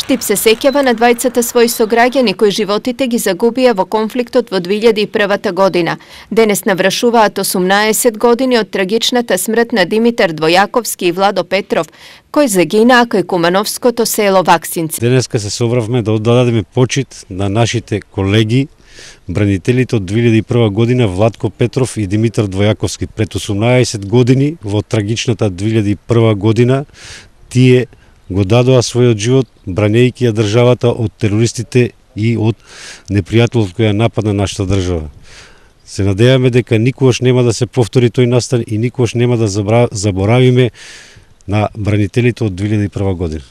Евтип се сеќава на двајцата своји сограѓани кои животите ги загубија во конфликтот во 2001 година. Денес навршуваат 18 години од трагичната смрт на Димитар Двојаковски и Владо Петров, кој загинаа кај кумановското село Ваксинци. Денеска се собравме да оддадеме почит на нашите колеги, бранителите од 2001 година Владко Петров и Димитар Двојаковски. Пред 18 години во трагичната 2001 година тие го дадоа својот живот бранејќи ја државата од терористите и од непријателот кој ја нападна нашата држава. Се надеваме дека никогаш нема да се повтори тој настан и никогаш нема да заборавиме на бранителите од 2001 година.